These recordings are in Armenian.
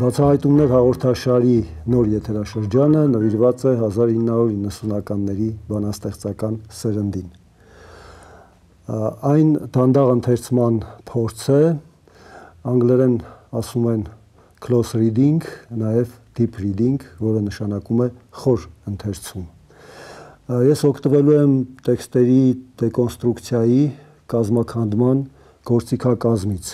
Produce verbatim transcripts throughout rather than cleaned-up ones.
Բացահայտումներ հաղորդաշարի նոր եթերաշրջանը նվիրված է հազար ինը հարյուր իննսունականների բանաստեղծական սերնդին։ Այն դանդաղ ընթերցման փորձ է, անգլերեն ասում են close reading, նաև deep reading, որը նշանակում է խոր ընթերցում։ Ես օգտվելու եմ տեքստերի դեկոնստրուկցիայի, կազմաքանդման, գործիքակազմից։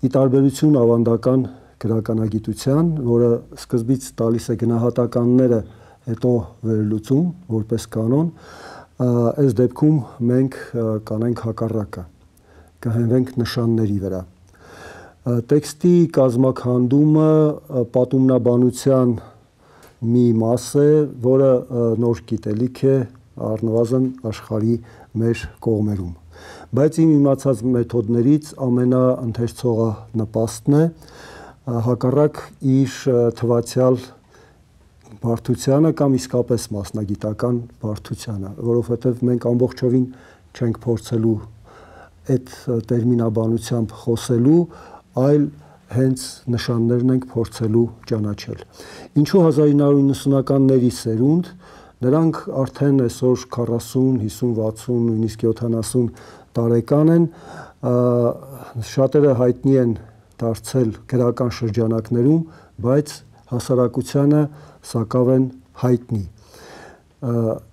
Ի տարբերություն ավանդական գրականագիտության, որը սկզբից տալիս է գնահատականները, հետո վերլուծում, որպես կանոն, այս դեպքում մենք կանենք հակառակը, կհենվենք նշանների վրա։ Տեքստի կազմաքանդումը պատումնաբանության մի մաս է, որը նոր գիտելիք է առնվազն աշխարհի մեր կողմերում։ Բայց իմ իմացած մեթոդներից ամենաընթերցողը նպաստն է, հակառակ իր թվացյալ բարդությանը կամ իսկապես մասնագիտական բարդությանը, որովհետև մենք ամբողջովին չենք փորձելու այդ տերմինաբանությամբ խոսելու, այլ հենց նշաններն ենք փորձելու ճանաչել։ Ինչու հազար ինը հարյուր իննսունականների սերունդ, նրանք արդեն այսօր քառասուն, հիսուն, վաթսուն, նույնիսկ յոթանասուն տարեկան են, շատերը հայտնի են դարձել գրական շրջանակներում, բայց հասարակությանը սակավ են հայտնի։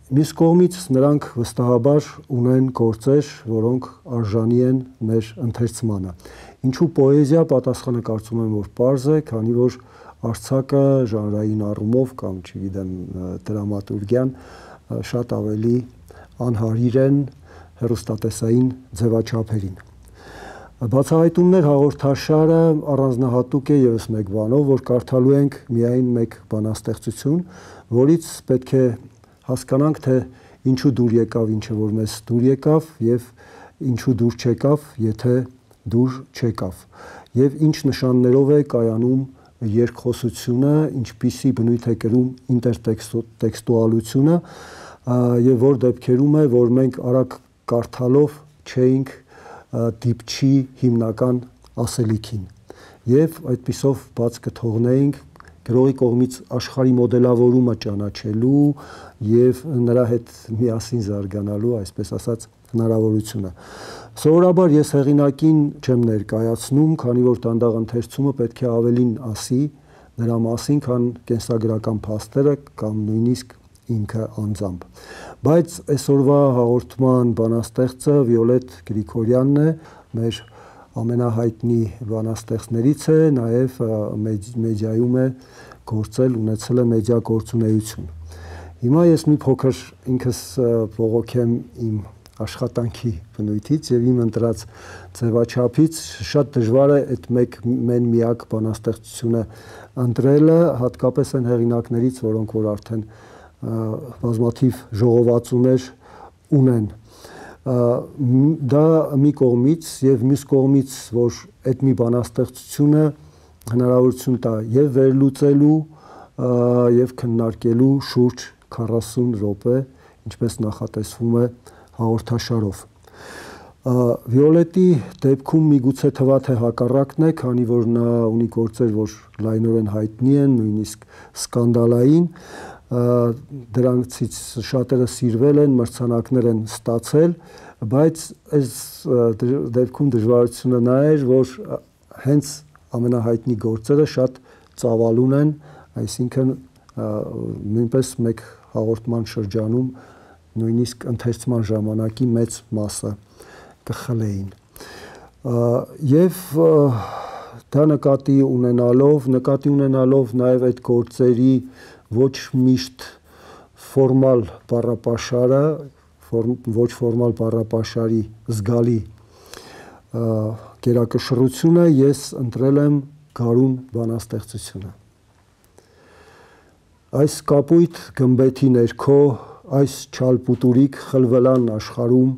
Մյուս կողմից նրանք վստահաբար ունեն գործեր, որոնք արժանի են մեր ընթերցմանը։ Ինչու պոեզիա, պատասխանը կարծում եմ, որ պարզ է, քանի որ արձակը ժանրային առումով կամ, չգիտեմ, դրամատուրգիան շատ ավելի անհարիր են հեռուստատեսային ձևաչափերին։ Բացահայտումներ հաղորդաշարը առանձնահատուկ է ևս մեկ բանով, որ կարդալու ենք միայն մեկ բանաստեղծություն, որից պետք է հասկանանք, թե ինչու դուր եկավ ինչը, որ մեզ դուր եկավ, եւ ինչու դուր չեկավ, եթե դուր չեկավ, եւ ինչ նշաններով է կայանում երկխոսությունը, ինչպիսի բնույթ է կրում ինտերտեքստուալությունը, եւ որ դեպքերում է, որ մենք արագ կարդալով չէինք դիպչի հիմնական ասելիքին եւ այդպիսով բաց կթողնեինք գրողի կողմից աշխարհի մոդելավորումը ճանաչելու եւ նրա հետ միասին զարգանալու, այսպես ասած, հնարավորությունը։ Սովորաբար ես հեղինակին չեմ ներկայացնում, քանի որ դանդաղ ընթերցումը պետք է ավելին ասի նրա մասին, քան կենսագրական փաստերը կամ նույնիսկ ինքը անձամբ։ Բայց այսօրվա հաղորդման բանաստեղծը Վիոլետ Գրիգորյանն է, մեր ամենահայտնի բանաստեղծներից է, նաև մեդիայում է գործել, ունեցել է մեդիա գործունեություն։ Հիմա ես մի փոքր ինքս բողոքեմ իմ աշխատանքի բնույթից եւ իմ ընտրած ձևաչափից, շատ դժվար է այդ մեկ մեն միակ բանաստեղծությունը ընտրելը, հատկապես այն հեղինակներից, որոնք որ արդեն բազմաթիվ ժողովածուներ ունեն։ Դա մի կողմից եւ մյուս կողմից, որ այդ մի բանաստեղծությունը հնարավորություն տա եւ վերլուծելու եւ քննարկելու շուրջ քառասուն րոպե, ինչպես նախատեսվում է հաղորդաշարով։ Վիոլետի դեպքում միգուցե թվա թե հակառակն է, քանի որ նա ունի գործեր, որ լայնորեն հայտնի են, նույնիսկ սկանդալային, դրանցից շատերը սիրվել են, մրցանակներ են ստացել, բայց այս դեպքում դժվարությունը նա էր, որ հենց ամենահայտնի գործերը շատ ծավալուն են, այսինքն նույնպես մեկ հաղորդման շրջանում նույնիսկ ընթերցման ժամանակի մեծ մասը կխլեին։ Եվ դա նկատի ունենալով, նկատի ունենալով նաև այդ գործերի ոչ միշտ ֆորմալ բառապաշարը, ոչ ֆորմալ բառապաշարի զգալի գերակշռությունը, ես ընտրել եմ Գարուն բանաստեղծությունը։ Այս կապույտ գմբեթի ներքո, այս չալպուտուրիկ խլվելան աշխարհում,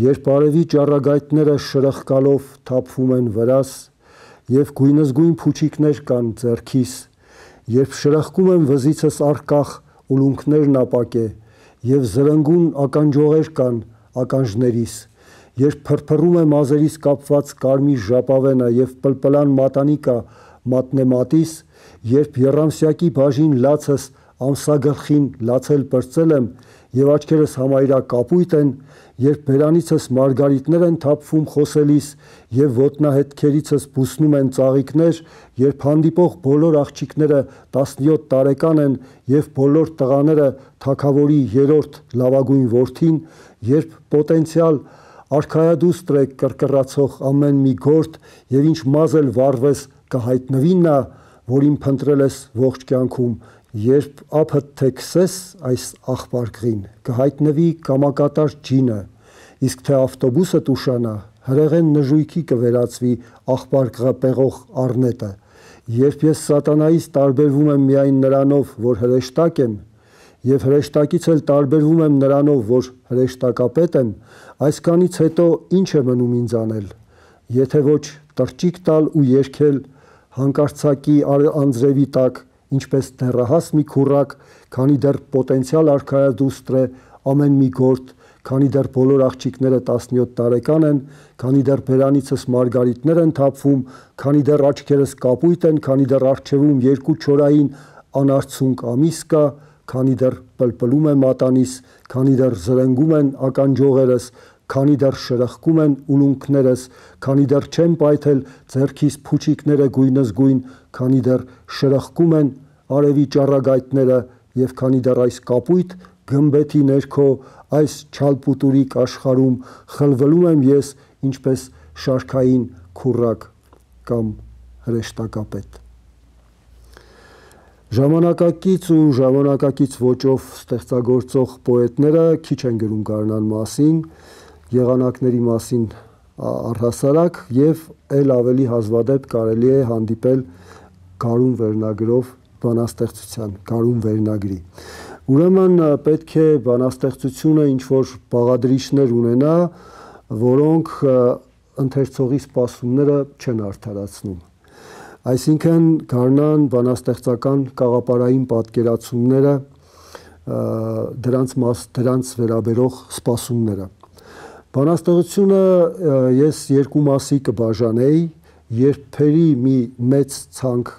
երբ արևի ճառագայթները շրխկալով թափվում են վրաս, եւ գույնզգույն փուչիկներ կան ձեռքիս, երբ շրխկում եմ վզիցս առկախ ուլունքներն ապակե, եւ զրնգուն ականջողեր կան ականջներիս, երբ փրփռում է մազերիս կապված կարմիր ժապավենը եւ պլպլան մատանի կա մատնեմատիս, երբ եռամսյակի բաժին լացս ամսագլխին լացել պրծել եմ և աչքերս համարյա կապույտ են, երբ բերանիցս մարգարիտներ են թափվում խոսելիս և ոտնահետքերիցս բուսնում են ծաղիկներ, երբ հանդիպող բոլոր աղջիկները տասնյոթ տարեկան են և բոլոր տղաները թագավորի երրորդ լավագույն որդին, երբ պոտենցիալ արքայադուստր է կռկռացող ամեն մի գործ և ինչ մազ էլ վառվես կհայտնվի նա, որին փնտրել ես ողջ կյանքում, երբ ափդ թե քսես այս աղբարկղին, կհայտնվի կամակատար ջինը, իսկ թե ավտոբուսդ ուշանա, հրեղեն նժույգի կվերածվի աղբարկղը պեղող առնետը, երբ ես սատանայից տարբերվում եմ միայն նրանով, որ հրեշտակ եմ, և հրեշտակից էլ տարբերվում եմ նրանով, որ հրեշտակապետ եմ, այսքանից հետո ինչ է մնում ինձ անել, եթե ոչ տրճիկ տալ ու երգել հանկարծակի անձրևի տակ, ինչպես դեռահաս մի քուռակ, քանի դեռ պոտենցիալ արքայադուստր է ամեն մի գործ, քանի դեռ բոլոր աղջիկները տասնյոթ տարեկան են, քանի դեռ բերանիցս մարգարիտներ են թափվում, քանի դեռ աչքերս կապույտ են, քանի դեռ առջևում երկու չորային անարցունք ամիս կա, քանի դեռ պլպլում է մատանիս, քանի դեռ զրնգում են ականջողերս, քանի դեռ շրխկում են ուլունքներս, քանի դեռ չեմ պայթել ձեռքիս փուչիկները գույնզգույն, քանի դեռ շրխկում են արևի ճառագայթները և քանի դեռ այս կապույտ գմբեթի ներքո, այս չալպուտուրիկ աշխարհում խլվլում եմ ես ինչպես շարքային քուռակ կամ հրեշտակապետ։ Ժամանակակից ու ժամանակակից ոճով ստեղծագործող պոետները քիչ են գրում գարնան մասին, եղանակների մասին առհասարակ և էլ ավելի հազվադեպ կարելի է հանդիպել գարուն վերնագրով բանաստեղծության, գարուն վերնագրի։ Ուրեմն պետք է բանաստեղծությունը ինչ-որ բաղադրիչներ ունենա, որոնք ընթերցողի սպասումները չեն արդարացնում։ Այսինքն գարնան բանաստեղծական կաղապարային պատկերացումները, դրանց, մաս, դրանց վերաբերող սպասումները։ Բանաստեղծությունը ես երկու մասի կբաժանեի, երբերի մի մեծ ցանկ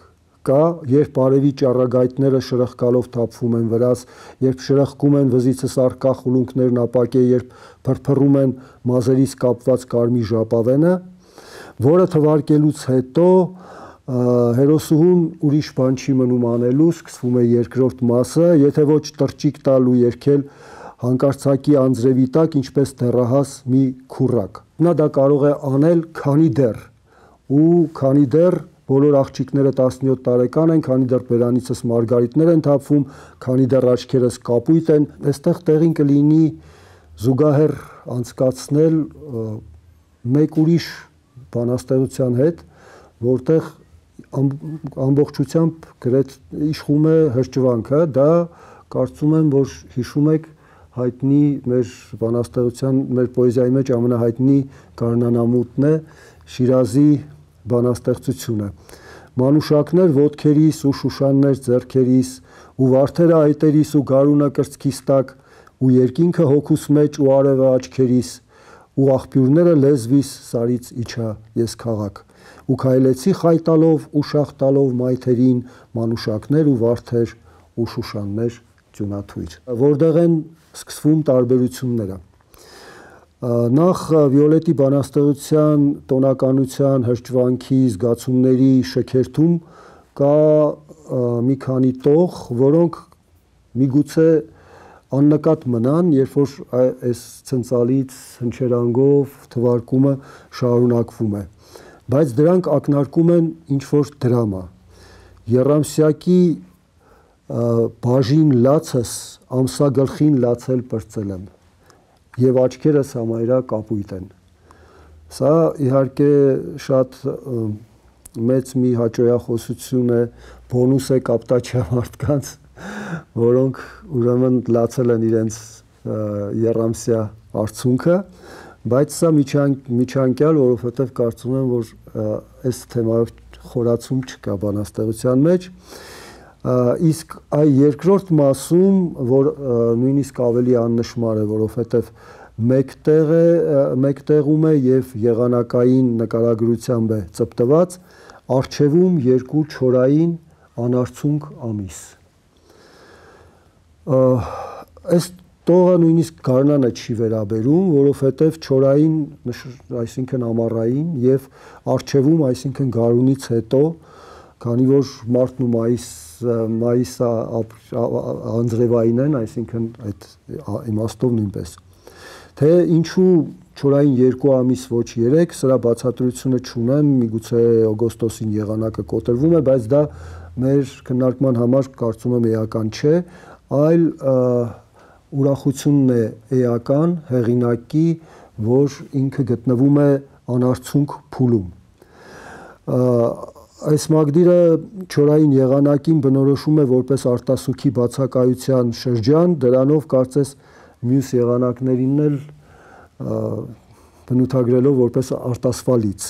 կա, երբ արևի ճառագայթները շրխկալով թափվում են վրաս, երբ շրխկում են վզիցս առկա խուլունքներն ապակե, երբ փրփռում են մազերից կապված կարմիր ժապավենը, որը թվարկելուց հետո հերոսուհուն ուրիշ բան չի մնում անելու, սկսվում է երկրորդ մասը, եթե ոչ տրճիկ տալ ու երգել հանկարծակի անձրևի տակ, ինչպես դեռահաս մի քուռակ։ Նա դա կարող է անել քանի դեռ, ու քանի դեռ բոլոր աղջիկները տասնյոթ տարեկան են, քանի դեռ բերանիցս մարգարիտներ են թափվում, քանի դեռ աչքերս կապույտ են, այստեղ տեղին կլինի զուգահեռ անցկացնել մեկ ուրիշ բանաստեղծության հետ, որտեղ ամբողջությամբ գրետ իշխում է հրճվանքը, դա կարծում եմ, որ հիշում եք հայտնի մեր բանաստեղծության, մեր պոեզիայի մեջ ամենահայտնի գարնանամուտն է Շիրազի բանաստեղծությունը։ Մանուշակներ ոտքերիս ու շուշաններ ձեռքերիս, ու վարդերը այտերիս ու գարունը կրծքիս տակ, ու երկինքը հոգուս մեջ ու արևը աչքերիս, ու աղբյուրները լեզվիս սարից իջա ես քաղաք, ու քայլեցի խայտալով ու շաղտալով մայթերին, մանուշակներ ու վարդեր ու շուշաններ ձյունաթույր։ Որտեղ են սկսվում տարբերությունները։ Նախ Վիոլետի բանաստեղծության տոնականության, հրճվանքի, զգացումների շքերթում կա մի քանի տող, որոնք միգուցե աննկատ մնան, երբ որ այս ցնցալից հնչերանգով թվարկումը շարունակվում է, բայց դրանք ակնարկում են ինչ-որ դրամա։ Եռամսյակի բաժին լացս ամսագլխին լացել պրծել եմ և աչքերս համարյա կապույտ են։ Սա իհարկե շատ մեծ մի հաճոյախոսություն է, բոնուս է կապտաչյա մարդկանց, որոնք ուրեմն լացել են իրենց եռամսյա արցունքը, բայց սա միջանկյալ, որովհետև կարծում եմ, որ այս թեմայով խորացում չկա բանաստեղծության մեջ, իսկ այ երկրորդ մասում, որ նույնիսկ ավելի աննշմար է, որովհետև մեկտեղ է, մեկտեղում է և եղանակային նկարագրությամբ է ծպտված, Առջևում երկու չորային անարցունք ամիս։ Այս տողը նույնիսկ գարնանը չի վերաբերում, որովհետև չորային, այսինքն ամառային, եւ առջևում, այսինքն գարունից հետո, քանի որ մարտն ու մայիս մայիսը անձրևային են, այսինքն այդ իմաստով նույնպես։ Թե ինչու չորային երկու ամիս ոչ երեք, սրա բացատրությունը չունեմ, միգուցե օգոստոսին եղանակը կոտրվում է, բայց դա մեր քննարկման համար կարծում եմ էական չէ, այլ ուրախությունն է էական հեղինակի, որ ինքը գտնվում է անարցունք փուլում։ Այս մակդիրը չորային եղանակին բնորոշում է որպես արտասուքի բացակայության շրջան, դրանով կարծես մյուս եղանակներին էլ բնութագրելով որպես արտասվալից,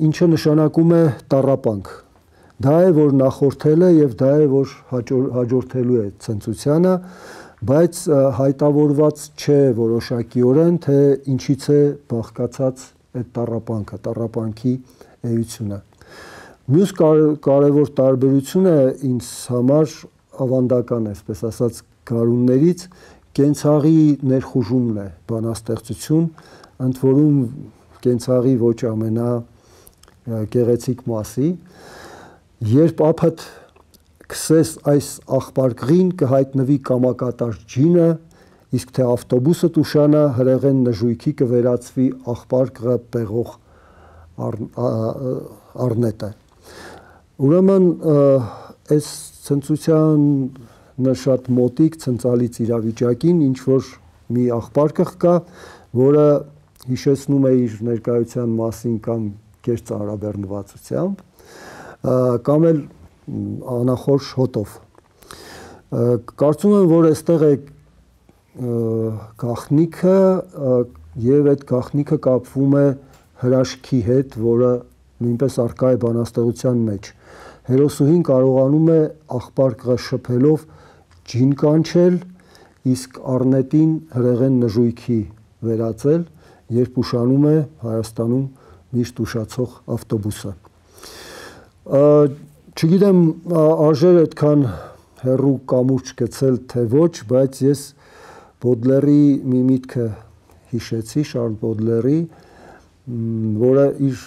ինչը նշանակում է տառապանք։ Դա է, որ նախորդել է եւ դա է, որ հաջորդելու է ցնծությանը, բայց հայտավորված չէ որոշակիորեն, թե ինչից է բաղկացած այդ տառապանքը, տառապանքի էությունը։ Մյուս կարևոր տարբերությունը ինձ համար ավանդական է, այսպես ասած, գարուններից կենցաղի ներխուժումն է բանաստեղծություն, ընդ որում կենցաղի ոչ ամենա գեղեցիկ մասի, երբ ափդ քսես այս աղբարկղին կհայտնվի կամակատար ջինը, իսկ թե ավտոբուսը տուշանա հրեղեն նժույքի կվերածվի աղբարկղը պեղող առնետը։ Ուրեմն այս ցնծությանը շատ մոտիկ ցնծալից իրավիճակին ինչ որ մի աղբարկղ կա, որը հիշեցնում է իր ներկայության մասին կամ կես ծառաբեռնվածությամբ, կամ էլ անախորժ հոտով։ Կարծում եմ, որ այստեղ է գաղտնիքը եւ այդ գաղտնիքը կապվում է հրաշքի հետ, որը նույնպես առկա է բանաստեղծության մեջ։ Հերոսուհին կարողանում է աղբարկղը շփելով ջին կանչել, իսկ առնետին հրեղեն նժույքի վերածել, երբ ուշանում է Հայաստանում միշտ ուշացող ավտոբուսը։ Չգիտեմ, արժեր այդքան հեռու կամուրջ գցել թե ոչ, բայց ես Բոդլերի մի միտքը հիշեցի, Շարլ Բոդլերի, որը իր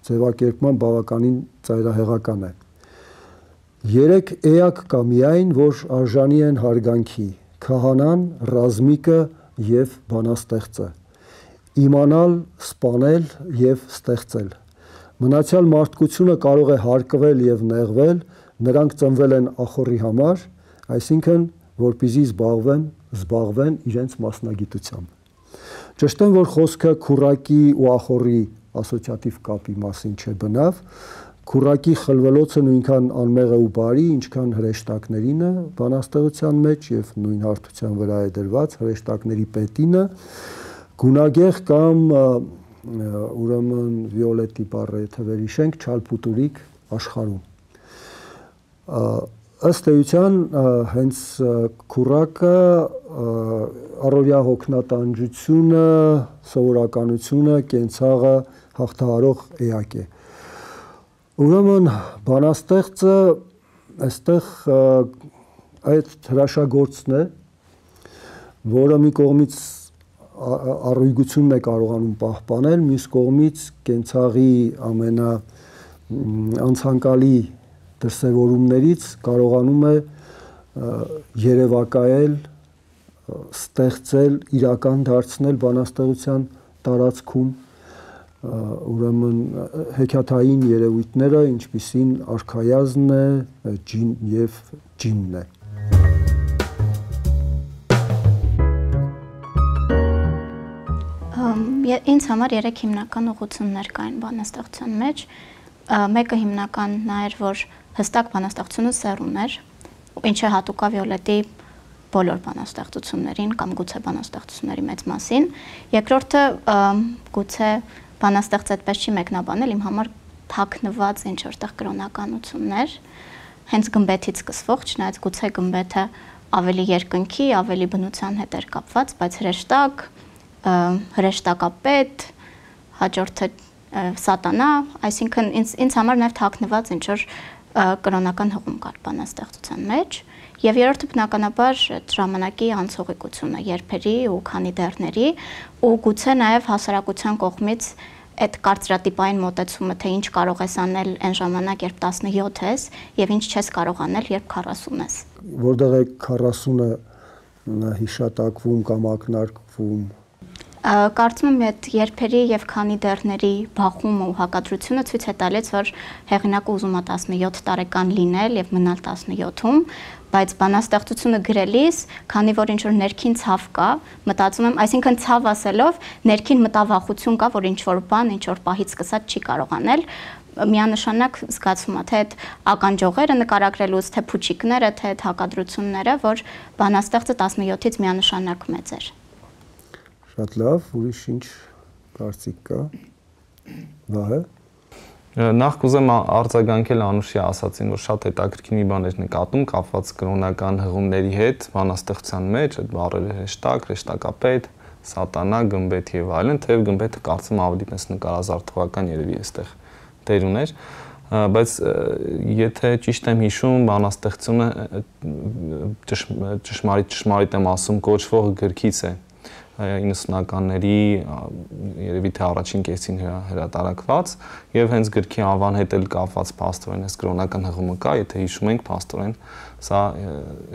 ձևակերպման բավականին ծայրահեղական է։ Երեք էակ կա միայն, որ արժանի են հարգանքի՝ քահանան, ռազմիկը եւ բանաստեղծը, իմանալ, սպանել եւ ստեղծել։ Մնացյալ մարդկությունը կարող է հարկվել եւ նեղվել, նրանք ծնվել են ախորի համար, այսինքն որպեսզի զբաղվեն, զբաղվեն իրենց մասնագիտությամբ։ Ճշտեմ, որ խոսքը քուրակի ու ախորի ասոցիատիվ կապի մասին չէ բնավ, քուրակի խլվելոցը նույնքան անմեղ է ու բարի, ինչքան հրեշտակներինը բանաստեղծության մեջ եւ նույն հարթության վրա է դրված հրեշտակների պետինը, գունագեղ կամ ուրեմն վիոլետի բառը եթե վերհիշենք, չալփուտուրիկ աշխարհում։ Ըստ էության հենց քուրակը առօրյա հոգնատանջությունը, սովորականությունը, կենցաղը հաղթահարող էակ է։ Ուրեմն բանաստեղծը այստեղ այդ հրաշագործն է, որը մի կողմից առույգությունն է կարողանում պահպանել, մյուս կողմից կենցաղի ամենա անցանկալի դրսևորումներից կարողանում է երևակայել, ստեղծել, իրական դարձնել բանաստեղծության տարածքում, ուրեմն հեքիաթային երևույթները, ինչպիսին արքայազնն է, ջին եւ ջինն է։ Ինձ համար երեք հիմնական ուղղություններ կային բանաստեղծության մեջ, մեկը հիմնականն էր, որ հստակ բանաստեղծությունը սեռուն էր, ինչը հատուկ է Վիոլետի բոլոր բանաստեղծություններին կամ գուցե բանաստեղծությունների մեծ մասին, երկրորդը գուցե բանաստեղծ այդպես չի մեկնաբանել, իմ համար թաքնված ինչ որտեղ կրոնականություններ, հենց գմբեթից սկսվող, չնայած գուցե գմբեթը ավելի երկնքի, ավելի բնության հետ էր կապված, բայց հրեշտակ, հրեշտակապետ, հաջորդը սատանա, այսինքն ինձ ինձ համար նաև թաքնված ինչ որ կրոնական հղում կար բանաստեղծության մեջ, եւ երրորդը բնականաբար ժամանակի անցողիկությունը, երբերի ու քանի դերների, ու գուցե նաև հասարակության կողմից այդ կարծրատիպային մոտեցումը, թե ինչ կարող ես անել այն ժամանակ, երբ տասնյոթ ես, եւ ինչ չես կարող անել, երբ քառասուն ես։ Որտեղ է քառասունը հիշատակվում կամ ակնարկվում։ Կարծում եմ այդ երբերի եւ քանի դերների բախումը ու հակադրությունը ցույց է տալիս, որ հեղինակը ուզում է տասնյոթ տարեկան լինել եւ մնալ տասնյոթում, բայց բանաստեղծությունը գրելիս, քանի որ ինչ որ ներքին ցավ կա, մտածում եմ, այսինքն ցավ ասելով, ներքին մտավախություն կա, որ ինչ որ բան, ինչ որ պահից սկսած չի կարող անել, միանշանակ զգացում է, թե այդ ականջողերը նկարագրելուց, թե փուչիկները, թե այդ հակադրությունները, որ բանաստեղծը տասնյոթից միանշանակ մեծ էր։ Շատ լավ, ուրիշ ինչ կարծիք կա։ Վահե։ Նախ կուզեմ արձագանքել Անուշի ասացին, որ շատ հետաքրքիր մի բան էր նկատում կապված կրոնական հղումների հետ բանաստեղծության մեջ, այդ բառերը հեշտակ, հեշտակապետ, սատանա, գմբեթ եւ այլն, թեև գմբեթը կարծում ավելի պես նկարազարդողական երևի այստեղ դեր ուներ, բայց եթե ճիշտ եմ հիշում, բանաստեղծությունը ճշմարիտ ճշմարիտ եմ ասում, կոչվող գրքից է իննսունականների երևի թե առաջին կեսին հրատարակված եւ հենց գրքի անվան հետ էլ կապված փաստորեն այս կրոնական հղումը կա, եթե հիշում ենք փաստորեն սա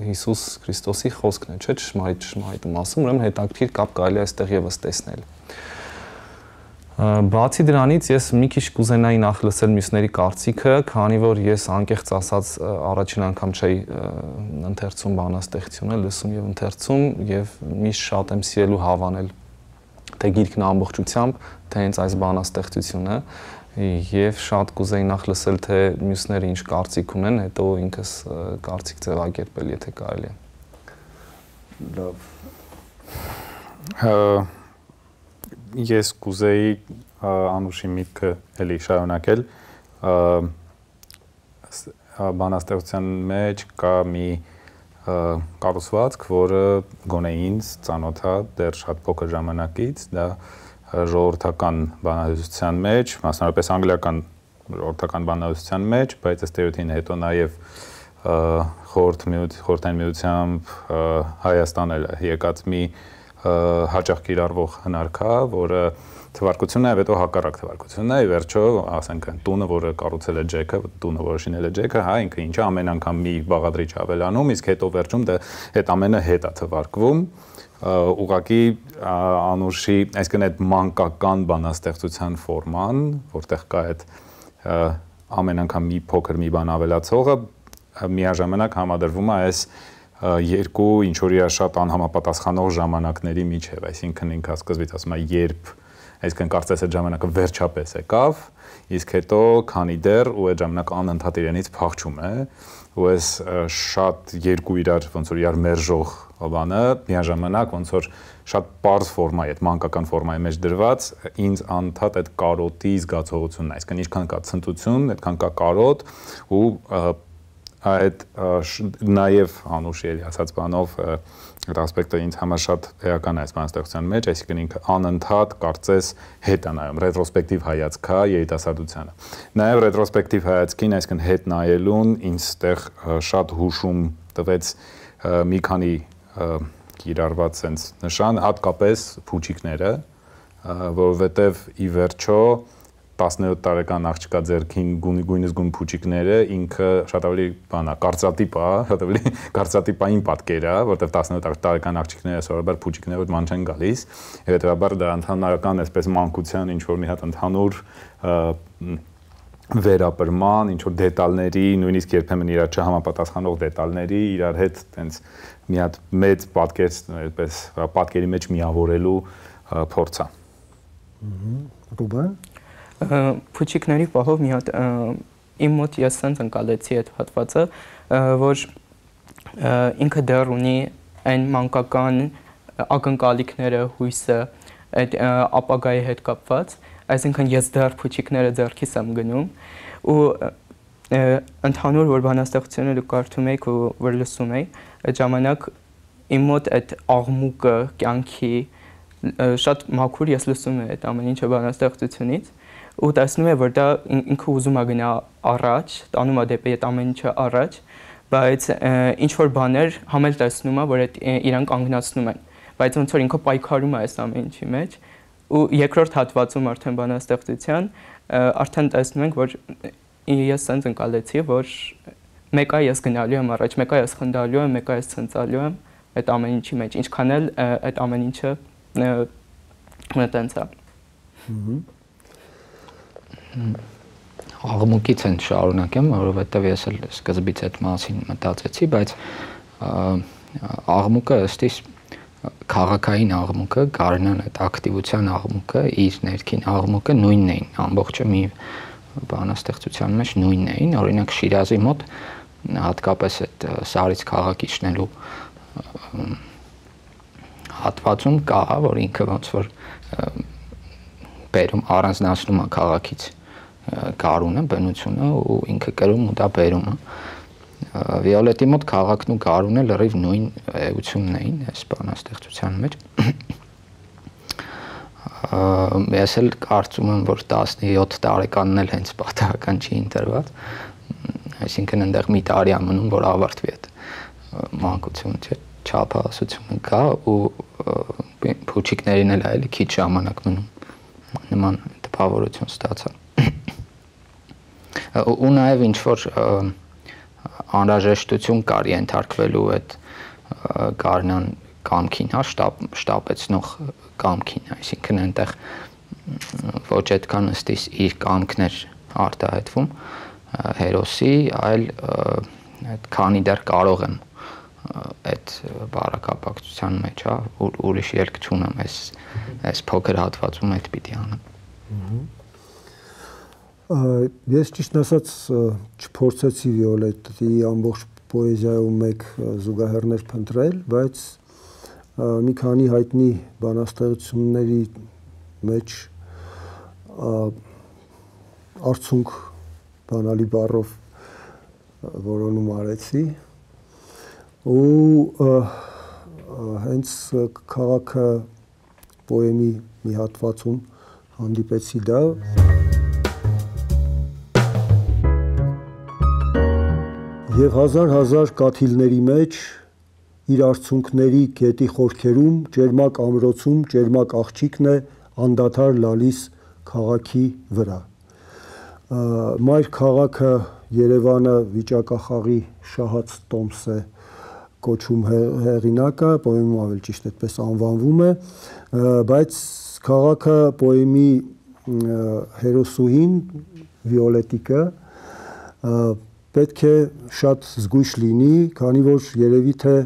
Հիսուս Քրիստոսի խոսքն է, չէ՞, ճշմարիտ ճշմարիտ եմ ասում, ուրեմն հետաքրքիր կապ կարելի է այստեղ եւս տեսնել։ Բացի դրանից ես մի քիչ կուզենայի նախ լսել մյուսների կարծիքը, քանի որ ես անկեղծ ասած առաջին անգամ չէի ընթերցում բանաստեղծությունը, լսում եւ ընթերցում եւ միշտ շատ եմ սիրել ու հավանել թե գիրքն ամբողջությամբ, թե հենց այս բանաստեղծությունը եւ շատ կուզեի նախ լսել թե մյուսները ինչ կարծիք ունեն, հետո ինքս կարծիք ձևակերպել, եթե կարելի է։ Լավ։ Ես կուզեի Անուշի միտքը էլի շարունակել, բանաստեղծության մեջ կա մի կառուցվածք, որը գոնե ինձ ծանոթ է դեռ շատ փոքր ժամանակից, դա ժողովրդական բանահյուսության մեջ, մասնավորապես անգլիական ժողովրդական բանահյուսության մեջ, բայց ըստ էության հետո նաև խորհրդային միությամբ Հայաստան էլ եկած մի հաճախ կիրառվող հնարքա, որը թվարկությունն է, եւ հետո հակառակ թվարկությունն է, ի վերջո, ասենք, տունը, որը կառուցել է Ջեքը, տունը, որը շինել է Ջեքը, հա, ինքը ինչա ամեն անգամ մի բաղադրիչ ավելանում, իսկ հետո վերջում դա այդ ամենը հետ է թվարկվում, ուղղակի Անուշի, այսինքն այդ մանկական բանաստեղծության ֆորման, որտեղ կա այդ ամեն անգամ մի փոքր մի բան ավելացողը, միաժամանակ համադրվում է այս երկու ինչ որ իրա շատ անհամապատասխանող ժամանակների միջև, այսինքն ինքը սկզբից ասում է երբ, այսինքն կարծես այդ ժամանակը վերջապես եկավ, իսկ հետո քանի դեռ ու այդ ժամանակ անընդհատ իրենից փախչում է, ու այս շատ երկու իրար ոնց որ իրար մերժող բանը միաժամանակ ոնց որ շատ պարզ ֆորմայի, այդ մանկական ֆորմայի մեջ դրված, ինձ անընդհատ այդ կարոտի զգացողությունն է, այսինքն ինչքան կա ցնծություն, այդքան կա կարոտ ու այդ նաև Անուշի էլի ասած բանով այդ ասպեկտը ինձ համար շատ էական է այս բանաստեղծության մեջ, այսինքն ինքը անընդհատ կարծես հետ է նայում, ռետրոսպեկտիվ հայացք է երիտասարդությանը։ Նաև ռետրոսպեկտիվ հայացքին, այսինքն հետ նայելուն ինձ ստեղ շատ հուշում տվեց մի քանի կիրառված sense նշան, հատկապես փուչիկները, որովհետև ի վերջո տասնյոթ տարեկան աղջկա ձեռքին գույնս գույն փուչիկները ինքը շատ ավելի բանա կարծրատիպ է, շատ ավելի կարծրատիպային պատկեր է, որտեղ տասնյոթ տարեկան աղջիկները սովորաբար փուչիկները ոչ ման չեն գալիս, հետեւաբար դա ընդհանրական այսպես մանկության ինչ որ մի հատ ընդհանուր վերապրման, ինչ որ դետալների, նույնիսկ երբեմն իրար չհամապատասխանող դետալների իրար հետ տենց մի հատ մեծ պատկեր, այսպես պատկերի մեջ միավորելու փորձ է։ Ռուբեն Փուչիկների պահով մի հատ իմ մոտ ես sense ընկալեցի այդ հատվածը, որ ինքը դեռ ունի այն մանկական ակնկալիքները, հույսը, այդ ապագայի հետ կապված, այսինքն ես դեռ փուչիկները ձեռքիս եմ գնում ու ընդհանուր որ բանաստեղծությունը դուք կարդում եք ու որ լսում եք, այդ ժամանակ իմ մոտ այդ աղմուկը, կյանքի շատ մաքուր ես լսում եմ այդ ամեն ինչը բանաստեղծությունից ու տեսնում է, որ դա ինքը ուզում է գնա առաջ, տանում է դեպի այդ ամեն ինչը առաջ, բայց ինչ որ բաներ համել տեսնում է, որ այդ իրան կանգնացնում են, բայց ոնց որ ինքը պայքարում է այս ամեն ինչի մեջ, ու երկրորդ հատվածում արդեն բանաստեղծության արդեն տեսնում ենք, որ ես sense ընկալեցի, որ մեկը ես գնալու եմ առաջ, մեկը ես խնդալու եմ, մեկը ես ցնցալու եմ այդ ամեն ինչի մեջ, ինչքան էլ այդ ամեն ինչը տենց է։ Աղմուկից են շարունակեմ, որովհետև ես էլ սկզբից այդ մասին մտածեցի, բայց աղմուկը ըստիս քաղաքային աղմուկը, Գարնան այդ ակտիվության աղմուկը, իր ներքին աղմուկը նույնն էին, ամբողջը մի բանաստեղծության մեջ նույնն էին, օրինակ Շիրազի մոտ հատկապես այդ Սարից քաղաքիչնելու հատվածում կա, որ ինքը ոնց որ բերում առանձնացնում է քաղաքից Գարունը, բնությունը ու ինքը կրում ու դա բերում է։ Վիոլետի մոտ քաղաքն ու Գարունը լրիվ նույն էությունն էին այս բանաստեղծության մեջ։ Ես էլ կարծում եմ, որ տասնյոթ տարեկանն էլ հենց պատահական չի ընտրված, այսինքն այնտեղ մի տարի է մնում, որ ավարտվի այդ մանկություն չէ, չափահասությունը կա ու փուչիկներին էլ այլ քիչ ժամանակ մնում նման տպավորություն ստացա։ Ու նաև ինչ որ անհրաժեշտություն կար ենթարկվելու այդ Գարնան կամքին, հա, շտապեցնող կամքին, այսինքն այնտեղ ոչ այդքան ըստիս իր կամքն էր արտահայտվում հերոսի, այլ քանի դեռ կարող եմ այդ բարակապակցության մեջ, հա, ուրիշ ելք չունեմ, այս այս փոքր հատվածում այդ պիտի անեմ։ Ես ճիշտ ասած չփորձեցի Վիոլետի ամբողջ պոեզիայում մեկ զուգահեռներ փնտրել, բայց մի քանի հայտնի բանաստեղծությունների մեջ արցունք բանալի բառով որոնում արեցի ու հենց քաղաքը պոեմի մի հատվածում հանդիպեցի դա։ Եվ հազար-հազար կաթիլների մեջ իր արցունքների գետի խորքերում ջերմակ ամրոցում ջերմակ աղջիկն է անդադար լալիս քաղաքի վրա։ Մայր քաղաքը Երևանը վիճակախաղի շահած տոմս է կոչում հեղինակը, պոեմում ավելի ճիշտ այդպես անվանվում է, բայց քաղաքը պոեմի հերոսուհին Վիոլետիկը պետք է շատ զգույշ լինի, քանի որ երևի թե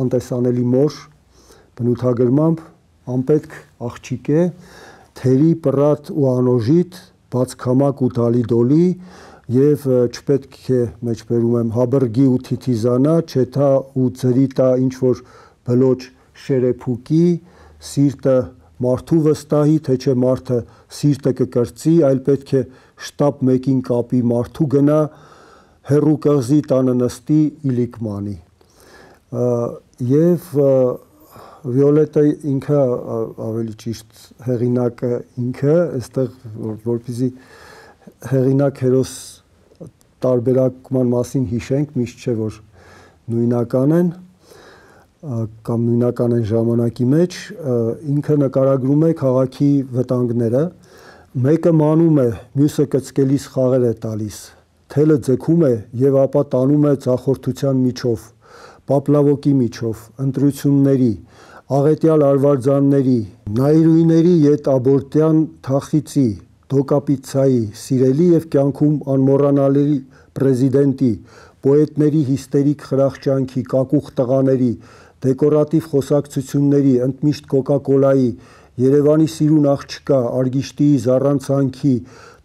անտեսանելի մոր բնութագրմամբ անպետք աղջիկ է, թերի պռատ ու անոժիտ, բացքամակ ու դալիդոլի եւ չպետք է մեջբերում եմ հաբրգի ու թիթիզանա, չեթա ու ծրիտա ինչ որ բլոճ շերեփուկի, սիրտը մարդու վստահի, թե չէ մարդը սիրտը կկրծի, այլ պետք է շտապ մեկին կապի մարդու գնա, հերու կղզի տանը նստի իլիկմանի։ Եվ Վիոլետը ինքը ավելի ճիշտ հեղինակը ինքը, այստեղ որպեսզի հեղինակ հերոս տարբերակման մասին հիշենք, միշտ չէ որ նույնական են կամ նույնական են ժամանակի մեջ, ինքը նկարագրում է քաղաքի վտանգները, մեկը մանում է, մյուսը կծկելիս խաղեր է տալիս, թելը ձգում է եւ ապա տանում է ձախորդության միջով, պապլավոկի միջով, ընտրությունների, աղետյալ արվարձանների, նայրույների ետ աբորտյան թախիցի, դոկապիցայի, սիրելի եւ կյանքում անմոռանալի պրեզիդենտի, պոետների հիստերիկ խրախճանքի, կակուղ տղաների, դեկորատիվ խոսակցությունների, ընդմիշտ կոկա-կոլայի, Երևանի սիրուն աղջկա, Արգիշտիի զառանցանքի,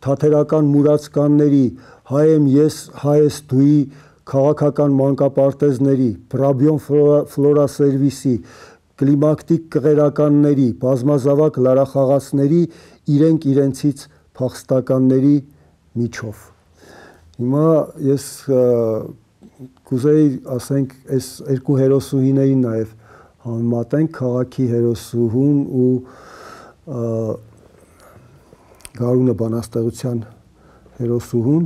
թաթերական մուրացկանների, հայ եմ ես, հայ ես դուի, քաղաքական մանկապարտեզների, Բրաբյոն ֆլորա սերվիսի, կլիմակտիկ կղերականների, բազմազավակ լարախաղացների, իրենք իրենցից փախստականների միջով։ Հիմա ես կուզեի ասենք այս երկու հերոսուհիներին նաև համեմատենք, քաղաքի հերոսուհուն ու Գարունը բանաստեղծության հերոսուհուն,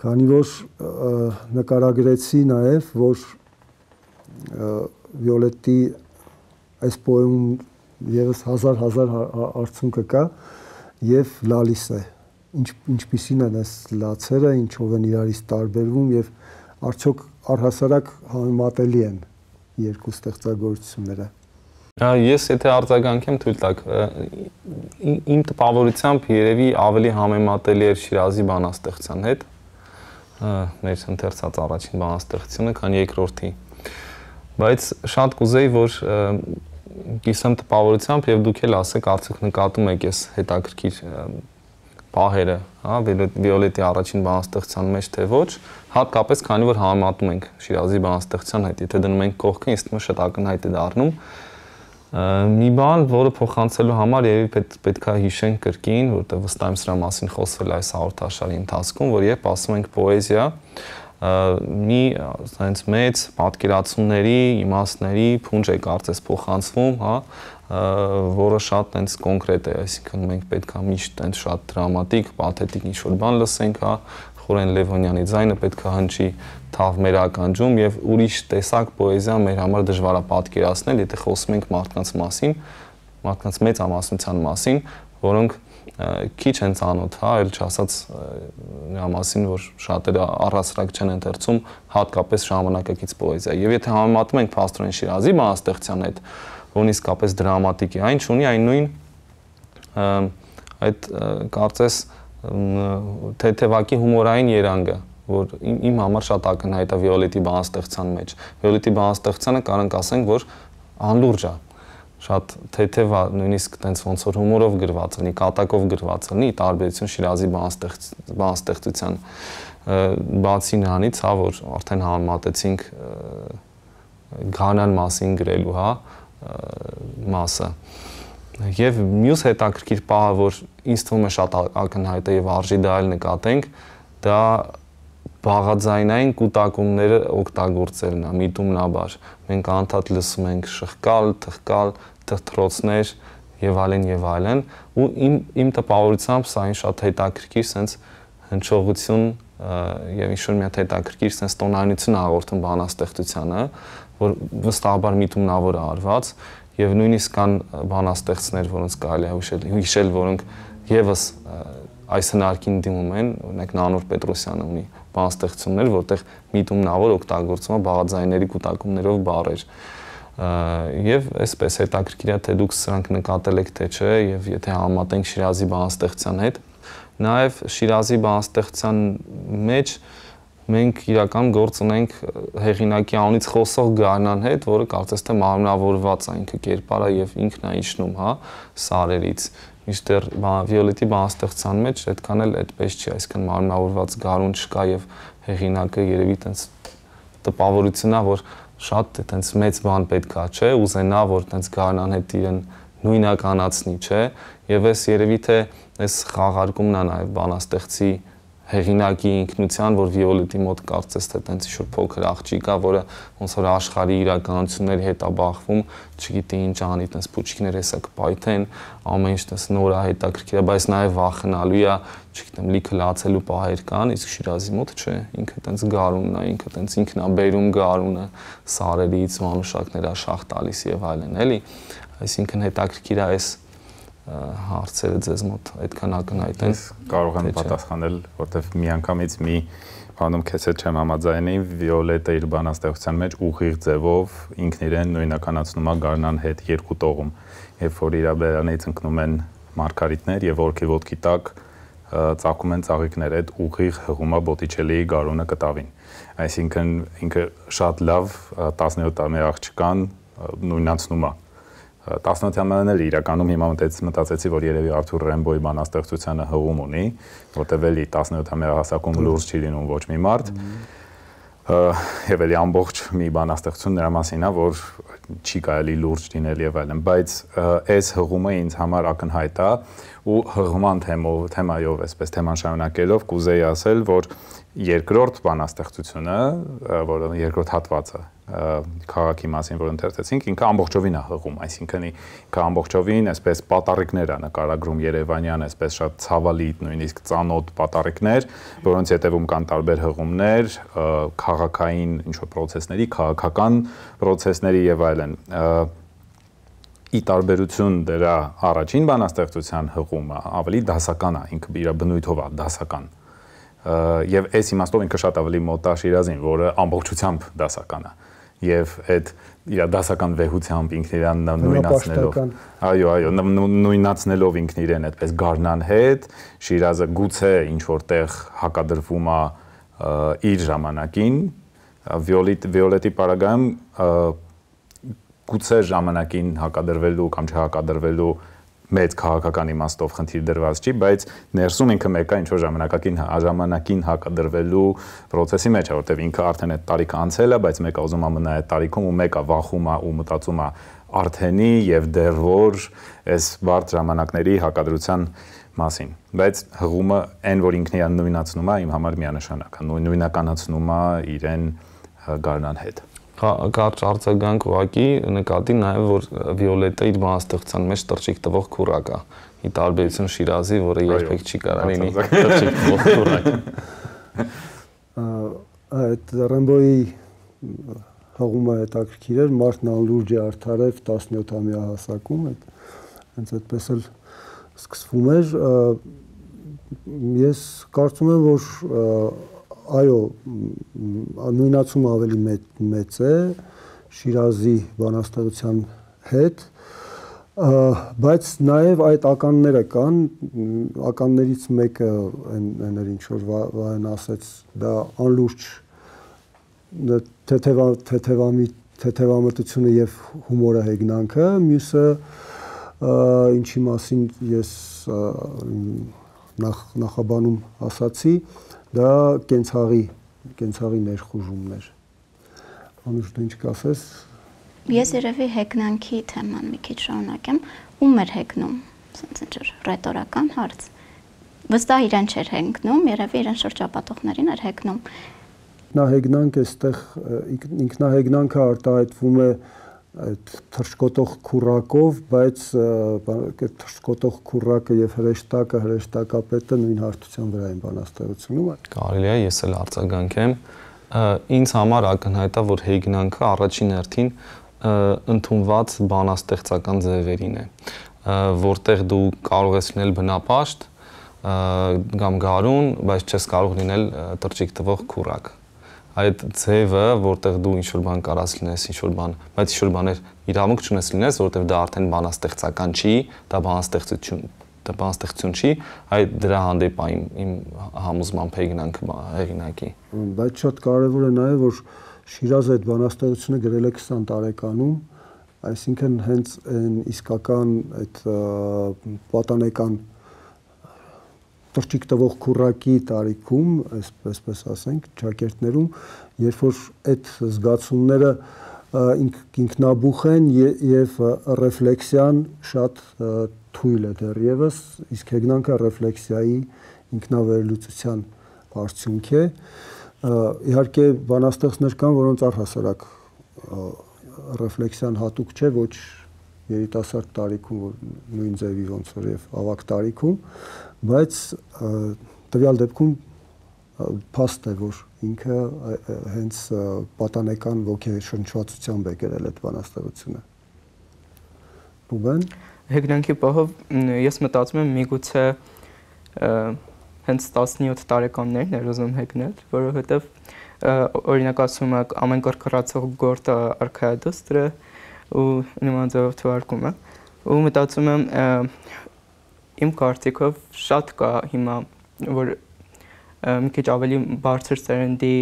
քանի որ նկարագրեցի նաև, որ Վիոլետի այս պոեմում եւս հազար-հազար արդյունքը կա եւ լալիս է, ինչ ինչպիսին են այս լացերը, ինչով են իրարից տարբերվում եւ արդյոք առհասարակ համեմատելի են երկու ստեղծագործությունները։ Ես եթե արձագանքեմ թույլ տաք, իմ տպավորությամբ երևի ավելի համեմատելի էր Շիրազի բանաստեղծության հետ, մեր ընթերցած առաջին բանաստեղծությունը, քան երկրորդի։ Բայց շատ կուզեի, որ կիսեմ տպավորությամբ եւ դուք էլ ասեք, արդյոք նկատում եք այս հետաքրքիր պահերը, հա, Վիոլետի առաջին բանաստեղծության մեջ թե ոչ, հատկապես քանի որ համեմատում ենք Շիրազի բանաստեղծության հետ, եթե դնում ենք կողքը, ինձ թվում է շատ ակնհայտ է դառնում։ Մի բան, որը փոխանցելու համար երևի պետք է հիշենք կրկին, որտեղ վստահ եմ սրա մասին խոսվել այս հաղորդաշարի ընթացքում, որ երբ ասում ենք պոեզիա, մի այնց մեծ պատկերացումների, իմաստների փունջ է կարծես փոխանցվում, հա, որը շատ այնց կոնկրետ է, այսինքն մենք պետք է միշտ այնց շատ դրամատիկ, պաթետիկ ինչ-որ բան լսենք, հա, Խորեն Լևոնյանի ձայնը պետք է հնչի թավ մեր ականջում եւ ուրիշ տեսակ պոեզիա մեր համար դժվար է պատկերացնել, եթե խոսում ենք մարդկանց մասին, մարդկանց մեծամասնության մասին, որոնք քիչ են ծանոթ, հա, այլ չասած նրա մասին, որ շատերը առհասարակ չեն ընթերցում հատկապես ժամանակակից պոեզիա։ Եվ եթե համեմատում ենք Փաստորեն Շիրազի բանաստեղծության հետ, որն իսկապես դրամատիկ է, այն ունի այն նույն այդ կարծես թեթևակի հումորային երանգը, որ իմ համար շատ ակնհայտ է Վիոլետի բանաստեղծության մեջ։ Վիոլետի բանաստեղծանը կարանք ասենք, որ անլուրջ է, շատ թեթև է, նույնիսկ տենց ոնց որ հումորով գրված լինի, կատակով գրված լինի, տարբերություն Շիրազի բանաստեղծության։ Բացի նրանից, հա, որ արդեն համեմատեցինք Գանան մասին գրելու, հա, մասը։ Եվ մյուս հետաքրքիր պահը, որ ինձ թվում է շատ ակնհայտ է եւ արժի դա էլ նկատենք, դա բաղաձայնային կուտակումները օգտագործելն է, միտումնաբար։ Մենք անդադ լսում ենք շղկալ, թխկալ, թրթրոցներ եւ այլն եւ այլն, ու իմ իմ տպավորությամբ սա այն շատ հետաքրքիր sense հնչողություն եւ ինչ-որ մի հատ հետաքրքիր sense տոնայնություն հաղորդում բանաստեղծությանը, որ վստահաբար միտումնավոր է արված եւ նույնիսկ կան բանաստեղծներ, որոնց կարելի է հիշել, հիշել, որոնք եւս այս հնարքին դիմում են, օրինակ Նանոր Պետրոսյանը ունի բանաստեղծություններ, որտեղ միտումնավոր օգտագործում է բաղաձայների կուտակումներով բառեր։ Եվ այսպես հետաքրքիր է, թե դուք սրանք նկատել եք թե չէ, եւ եթե համատենք Շիրազի բանաստեղծության հետ, նաեւ Շիրազի բանաստեղծության մեջ մենք իրական գործ ունենք հեղինակի անունից խոսող Գարնան հետ, որը կարծես թե մարմնավորված է ինքը կերպարա եւ ինքն է իջնում, հա, սարերից։ Միշտեր Վիոլետի բանաստեղծության մեջ այդքան էլ այդպես չի, այսինքն մարմնավորված Գարուն չկա եւ հեղինակը երևի տենց տպավորությունն է, որ շատ այտենց մեծ բան պետքա, չէ, ուզենա, որ տենց Գարնան հետ իրեն նույնականացնի, չէ, եւ այս երևի թե այս խաղարկումն է նաեւ բանաստեղծի հեղինակի ինքնության, որ Վիոլետի մոտ կարծես թե տենց ինչ-որ փոքր աղջիկ է, որը ոնց որ աշխարհի իրականությունների հետ է բախվում, չգիտի ինչ անի, տենց փուչիկներ հեսա կպայթեն, ամեն ինչ տենց նոր է, հետաքրքիր է, բայց նաև վախենալու է, չգիտեմ, լիքը լացելու պահեր կան, իսկ Շիրազի մոտ չէ, ինքը տենց Գարունն է, ինքը տենց ինքն է բերում Գարունը սարերից, մանուշակներ է շախ տալիս եւ այլն, էլի, այսինքն հետաքրքիր է այս հարցերը ձեզ մոտ այդքան ակնհայտ են։ Կարող եմ պատասխանել, որտեվ միանգամից մի բանում քեզ հետ չեմ համաձայնի, Վիոլետը իր բանաստեղծության մեջ ուղիղ ձևով ինքն իրեն նույնականացնում է Գարնան հետ երկու տողում, երբ որ իր բերանից ընկնում են մարգարիտներ եւ որքի ոտքի տակ ծակում են ծաղիկներ, այդ ուղիղ հղում է Բոտիչելիի Գարունը կտավին։ Այսինքն ինքը շատ լավ տասնյոթ տարի աղջկան նույնացնում է։ տասնյոթամյանն էլ իրականում հիմա մտածեցի, որ երևի Արթուր Ռեմբոյի բանաստեղծությանը հղում ունի, որտեղ էլի տասնյոթամյա հասակում լուրջ չի լինում ոչ մի մարդ, եւ էլի ամբողջ մի բանաստեղծություն նրա մասին է, որ չի կարելի լուրջ լինել եւ այլն, բայց այս հղումը ինձ համար ակնհայտ է ու հղման թեմով, թեմայով, այսպես թեման շարունակելով կուզեի ասել, որ երկրորդ բանաստեղծությունը, որը երկրորդ հատվածը քաղաքի մասին, որ ընթերցեցինք, ինքը ամբողջովին է հղում, այսինքն ինքը ամբողջովին այսպես պատառիկներ է նկարագրում Երևանյան, այսպես շատ ցավալի, նույնիսկ ծանոթ պատառիկներ, որոնց հետևում կան տարբեր հղումներ, քաղաքային ինչ-որ process-ների, քաղաքական process-ների եւ այլն։ Ի տարբերություն դրա առաջին բանաստեղծության հղումը ավելի դասական է, ինքը իր բնույթով է դասական։ Եվ այս իմաստով ինքը շատ ավելի մոտ է Շիրազին, որը ամբողջությամբ դասական է։ Եվ այդ իր դասական վեհությամբ ինքն իրան նույնացնելով, այո, այո, նույնացնելով ինքն իրեն այդպես Գառնան հետ, Շիրազը գուցե ինչ որտեղ հակադրվում է իր ժամանակին, Վիոլետի պարագայում գուցե ժամանակին հակադրվելու կամ չհակադրվելու մեծ քաղաքական իմաստով խնդիր դրված չի, բայց ներսում ինքը մեկը ինչ որ ժամանակակին ժամանակին հակադրվելու process-ի մեջ է, որտեղ ինքը արդեն այդ տարիքը անցել է, բայց մեկը ուզում է մնա այդ տարիքում ու մեկը վախում է ու մտածում է արդենի եւ դեռ որ այս բարդ ժամանակների հակադրության մասին։ Բայց հղումը այն որ ինքն իրան նույնացնում է, իմ համար միանշանակ է, նույնականացնում է իրեն Գառնան հետ։ Կարճ արձագանք ուղղակի նկատի նաև որ Վիոլետը իր բանաստեղծության մեջ տրջիկ տվող քուրակ է։ Ի տարբերություն Շիրազի, որը երբեք չի կարող լինի տրջիկ տվող քուրակ։ Այդ Ռեմբոյի հղումը հետաքրքիր էր, մարդն անլուրջ է արդարև տասնյոթամյա հասակում, այդ հենց այդպես էլ սկսվում էր։ Ես կարծում եմ, որ այո, նույնացումը ավելի մեծ է Շիրազի բանաստեղծության հետ, բայց նաև այդ ականները կան, ականներից մեկը այն ինչ որ Վահեն ասեց, դա անլուրջ թեթևամտությունը եւ հումորը հեգնանքը, մյուսը ինչի մասին ես նախաբանում ասացի, դա կենցաղի, կենցաղի ներխուժումներ։ Անուշ դու ինչ կասես։ Ես երևի հեգնանքի թեման մի քիչ շարունակեմ, ում էր հեգնում, ասենց ինչ ռետորական հարց։ Վստահ իրեն չէր հեգնում, երևի իրեն շրջապատողներին էր հեգնում։ Ինքնահեգնանք էստեղ ինքնահեգնանքը արտահայտվում է այդ թռչկոտող քուրակով, բայց այդ թռչկոտող քուրակը եւ հրեշտակը, հրեշտակապետը նույն հարթության վրա են բանաստեղծությունում։ Կարելի է ես էլ արձագանքեմ։ Ինձ համար ակնհայտ է, որ հեգնանքը առաջին հերթին ընդունված բանաստեղծական ձևերին է, որտեղ դու կարող ես լինել բնապաշտ կամ գարուն, բայց չես կարող լինել տրջիկ տվող քուրակ։ Այդ ձևը, որտեղ դու ինչ-որ բան կարաս լինես, ինչ-որ բան, բայց ինչ-որ բաներ իրավունք չունես լինես, որտեղ դա արդեն բանաստեղծական չի, դա բանաստեղծություն, դա բանաստեղծություն չի, այդ դրա հանդեպ է իմ համոզմամբ հեգնանքը հեղինակի։ Բայց շատ կարևոր է նաև, որ Շիրազը այդ բանաստեղծությունը գրել է քսան տարեկանում, այսինքն հենց այն իսկական այդ պատանեկան տրջիկ տվող քուրակի տարիքում, այսպես ասենք, ճակերտներում, երբ որ այդ զգացումները ինքնաբուխ են եւ ռեֆլեքսիան շատ թույլ է դեռևս, իսկ հեգնանքը ռեֆլեքսիայի ինքնավերլուծության արդյունք է։ Իհարկե բանաստեղծներ կան, որոնց առհասարակ ռեֆլեքսիան հատուկ չէ, ոչ երիտասարդ տարիքում, նույն ձևի ոնց որ եւ ավագ տարիքում, բայց տվյալ դեպքում փաստ է, որ ինքը հենց պատանեկան ոգեշնչվածությամբ է գրել այդ բանաստեղծությունը։ Ռուբեն։ Հեգնանքի պահով ես մտածում եմ միգուցե հենց տասնյոթ տարեկաններն էր ուզում հեգնել, որովհետև օրինակ ասում եք ամեն կրկռացող գործը արքայադուստրը ու նման ձևով թվարկում է ու մտածում եմ իմ կարծիքով շատ կա հիմա որ մի քիչ ավելի բարձր սերնդի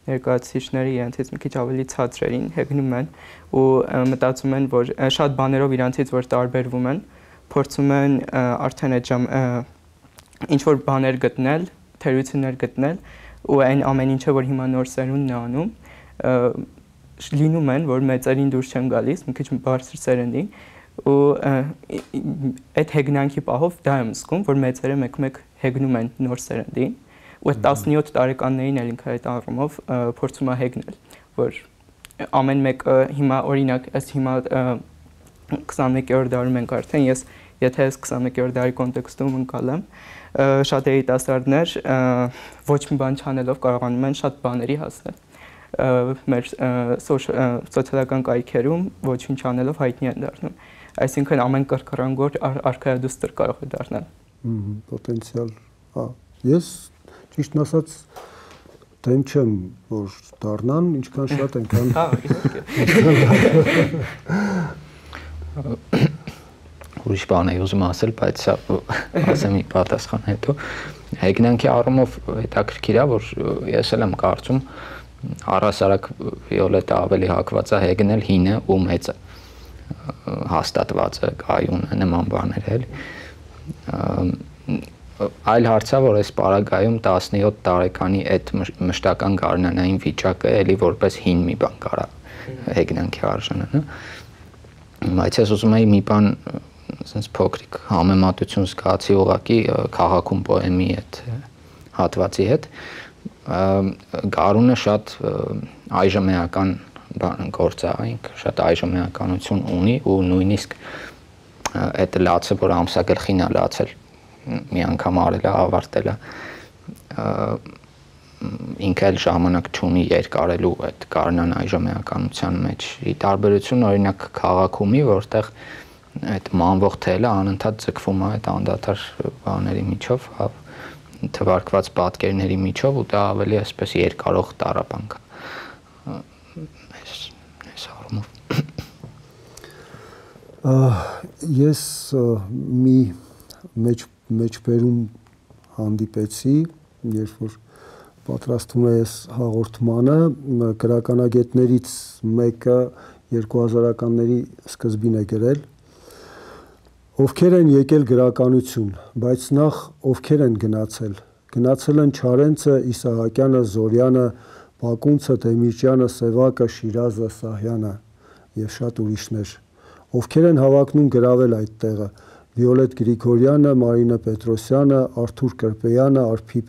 ներկայացուցիչները իրանցից մի քիչ ավելի ցածրերին հեգնում են ու մտածում են որ շատ բաներով իրանցից որ տարբերվում են փորձում են արդեն այդ ժամ ինչ որ բաներ գտնել թերություններ գտնել ու այն ամեն ինչը որ հիմա նոր սերունդն է անում լինում են որ մեծերին դուրս չեն գալիս մի քիչ բարձր սերնդի ու այդ հեգնանքի պահով դա եմ զգում որ մեծերը մեկ-մեկ հեգնում են նոր սերնդին ու այդ տասնյոթ տարեկաններին էլ ինքը այդ առումով փորձում է հեգնել, որ ամեն մեկը հիմա օրինակ այս հիմա քսաներկերորդ դարում ենք արդեն, ես եթե այս քսաներկերորդ դարի կոնտեքստում ընկալեմ, շատ երիտասարդներ ոչ մի բան չանելով կարողանում են շատ բաների հասնել մեր սոցիալական կայքերում ոչինչ անելով հայտնի են դառնում, այսինքն ամեն կրկռանգոր արքայադուստր կարող է դառնալ։ Պոտենցիալ, հա, ես ճիշտն ասած դեմ չեմ, որ դառնան, ինչքան շատ այնքան։ Հա, իհարկե։ Ուրիշ բան էի ուզում ասել, բայց ասեմ մի պատասխան հետո։ Հեգնանքի առումով հետաքրքիր է, որ ես էլ եմ կարծում առհասարակ Վիոլետը ավելի հակված է հեգնել հինը ու մեծը, հաստատվածը, կայունը, նման բաներ էլ։ Այլ հարց է, որ այս պարագայում տասնյոթ տարեկանի այդ մշտական գարնանային վիճակը էլի որպես հին մի բան կարա հեգնանքի արժանանա։ Բայց ես ուզում եի մի բան ասենց փոքրիկ համեմատություն զգացի ուղղակի քաղաքում պոեմի այդ հատվածի հետ։ Գարունը շատ այժմեական գործ է, ինքը շատ այժմեականություն ունի ու նույնիսկ այդ լացը, որ ամսագլխին է լացել, մի անգամ արել է, ավարտել է, ինքը էլ ժամանակ չունի երկարելու այդ գարնան այժմեականության մեջ։ Ի տարբերություն օրինակ քաղաքումի, որտեղ այդ մանվող թելը անընդհատ ձգվում է այդ անդադար բաների միջով, թվարկված պատկերների միջով ու դա ավելի այսպես երկարող տառապանք է։ Այս առումով։ Ես մի մեջբերում հանդիպեցի, երբ որ պատրաստում է այս հաղորդմանը, գրականագետներից մեկը երկու հազարականների սկզբին է գրել, ովքեր են եկել գրականություն, բայց նախ ովքեր են գնացել։ Գնացել են Չարենցը, Իսահակյանը, Զորյանը, Բակունցը, Դեմիրճյանը, Սևակը, Շիրազը, Սահյանը եւ շատ ուրիշներ։ Ովքեր են հավակնում գրավել այդ տեղը։ Վիոլետ Գրիգորյանը, Մարինե Պետրոսյանը, Արթուր Կրպեյանը, Արփի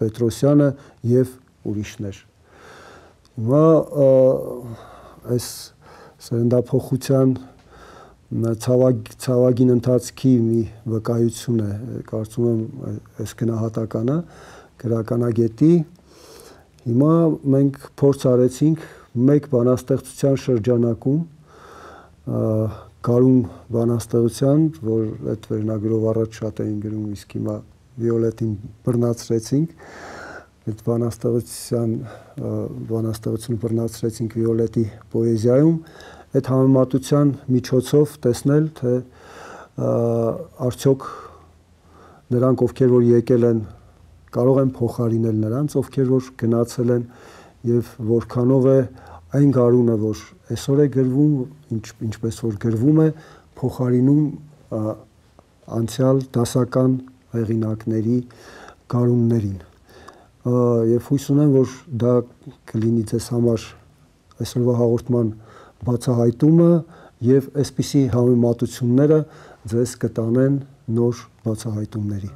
Պետրոսյանը եւ ուրիշներ։ Հիմա այս սերնդափոխության ցավագ, ցավագին ընթացքի մի վկայություն է, կարծում եմ այս գնահատականը գրականագետի։ Հիմա մենք փորձ արեցինք մեկ բանաստեղծության շրջանակում Գարուն բանաստեղծության, որ այդ վերնագրով առաջ շատ էին գրում, իսկ հիմա Վիոլետին բռնացրեցինք, այդ բանաստեղծության բանաստեղծությունը բռնացրեցինք Վիոլետի պոեզիայում, այդ համեմատության միջոցով տեսնել, թե արդյոք նրանք, ովքեր որ եկել են, կարող են փոխարինել նրանց, ովքեր որ գնացել են եւ որքանով է այն գարունը, որ այսօր է գրվում, ինչ, ինչպես որ գրվում է, փոխարինում անցյալ դասական հեղինակների գարուններին։ Եվ հույս ունեմ, որ դա կլինի ձեզ համար այսօրվա հաղորդման բացահայտումը եւ այսպիսի համեմատությունները ձեզ կտանեն նոր բացահայտումների։